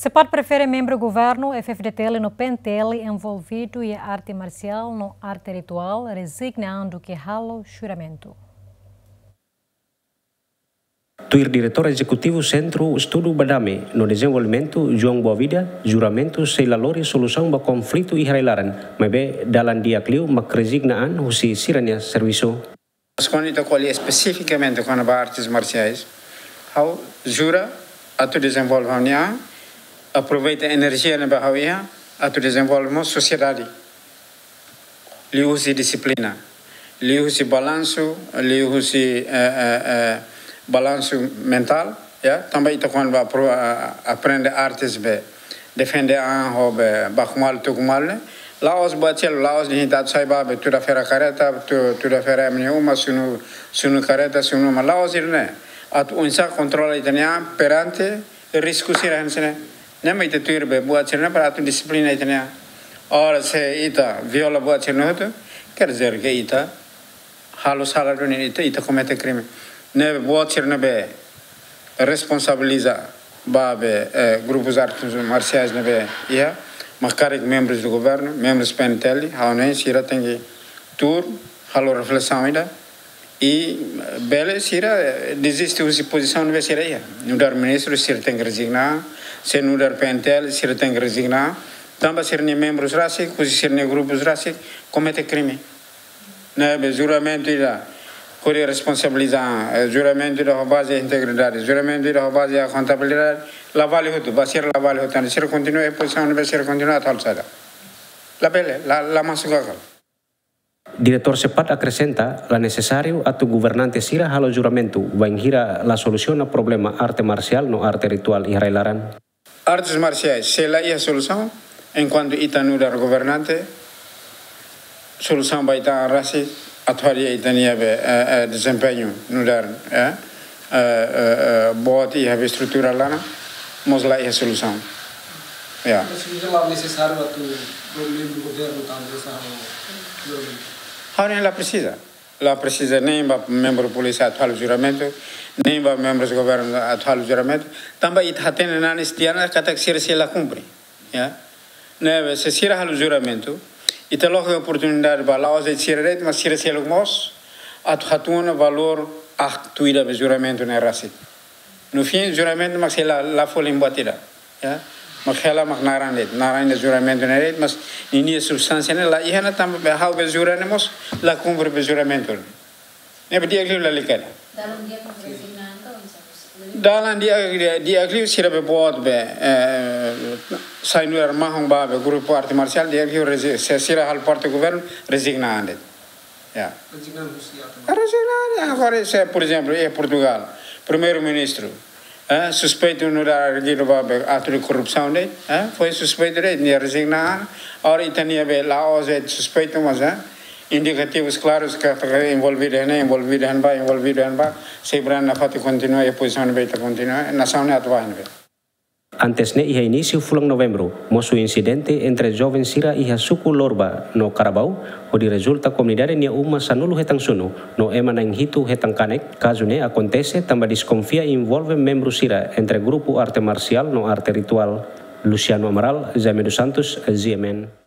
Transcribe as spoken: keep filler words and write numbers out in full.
Sepat prefere membru governu, F-FDTL no P N T L envolvidu iha arte marsiál no arte rituál rezigna an duké halo juramentu. Tuir Diretór Ezekutivu Sentru Estudu ba Dame no Dezenvolvimentu, João Boavida, juramentu sei la lori solusaun ba konflitu iha rai-laran, maibé dalan di'ak liu mak rezigna an husi sira-nia servisu. Mas kuandu ita ko'alia espesifikamente kona-ba artes marsiais, ha'u jura atu dezenvolve ha'u-nia an, aproveita enerjia ne'ebé ha'u iha, atu dezenvolve mós sosiedade. Liuhusi dixiplina, liuhusi balansu, liuhusi, eh, eh, eh, balansu mentál, ya. Tanba ita kuandu ba pro-, a-, a-, aprende artes be, defende an ho be, baku malu, tuku malu ne'e. La'ós buat seluk, la'ós dehan ita atu sai ba be, tuda fera kareta, tu-, tuda fera ema nia uma, sunu, sunu kareta, sunu uma, la'ós ida-ne'e. Atu oinsá kontrola ita-nia an perante risku sira hanesan ne'e. Ne'e mak ita tuir be buat sira-ne'e para atu dixiplina ita-nia an. Ora se ita viola buat sira-ne'e hotu, quer dizer que ita halo sala duni, ita, ita komete krime. Ne'ebé buat sira ne'ebé responsabiliza ba be, eh, grupus artes marsiais ne'ebé iha, mak karik membrus do governu, membrus P N T L, ha'u hanoin sira tenke tuur halo reflesaun ida, i bele sira, eh, deziste husi pozisaun ne'ebé sira iha. Nu'udar ministru sira tenke rezigna, se nu'udar P N T L sira tenke rezigna, tanba sira-nia membrus rasik, husi sira-nia grupus rasik komete krime. Ne'ebé juramentu ida hodi responsabiliza, eh, juramentu ida ho baze integridade, juramentu ida ho baze akontabilidade, la vale hotu, ba sira la vale hotu, entaun sira kontinua iha pozisaun ne'ebé sira kontinua atu halo saida. Labele, la, la masuk akal. Diretór Sepat akresenta, la nesesáriu atu governante sira halo juramentu, bainhira la solusiona problema arte marsiál no arte rituál iha rai-laran. Artes marsiais, se la iha solusaun, enkuantu ita nu'udar governante, solusaun ba ita an rasik, atu hadi'a ita-nia be, eh, eh, dezempeñu nu'udar, eh, eh, eh, eh, boot iha be estrutura laran, mós la iha solusaun. Ya. Mas solusaun la nesesáriu atu membru governu tanba sa juramentu. Ha'u hanoin la presiza. La presiza nein ba membru polísia atu halo juramentu, nein ba membrus governu atu halo juramentu. Tanba ita hatene nanis tiha ona katak sira sei la kumpre. Ya. Ne'ebé se sira halo juramentu, ita loke oportunidade ba la'ós de'it sira de'it, mas sira seluk mós atu hatuan ona valór aktu ida be juramentu ne'e rasik. No fim, juramentu mak sei la, la folin buat ida. Ya. Mak hela mak naran de'it, naran de'it juramentu ne'e de'it, mas ninia substánsia ne'e la iha ona tanba be ha'u be jura ne'e mós la kumpre be juramentu. Ne'ebé di'ak liu lalika ida. Dalan di'ak mak rezigna an ka oinsá? Dalan di'ak, di'ak, di'ak liu sira be boot be, eh, sai nu'udar mahon ba be grupu arte marsiál, di'ak liu rezi-, se sira halo parte governu, rezigna an de'it. Ya. Rezigna husi arte. Rezigna, ya, agora se, por ezemplu, iha Portugal, primeiru-ministru, eh, suspeitu nu'udar arguidu ba be atu de korrupsaun de'it, eh, foi suspeitu de'it, nia rezigna an, agora ita-nia be la'ós de'it suspeitu, mas, eh, indikativus klarus katak envolvidu iha ne'e, envolvidu iha ne'ebá, envolvidu iha ne'ebá, sei brani nafatin kontinua iha pozisaun ne'ebé ita kontinua, nasaun ne'e atu ba iha ne'ebé. Antes ne'e iha inísiu fulan Novembru, mosu insidente entre joven sira iha suku Lorba no Karabau, hodi rezulta komunidade nia uma sanulu hetan sunu, no ema na'in hitu hetan kanek, kazu ne'e akontese tanba deskonfia envolve membru sira entre grupu arte marsiál no arte rituál. Luciano Amaral, Jaime dos Santos, G M N.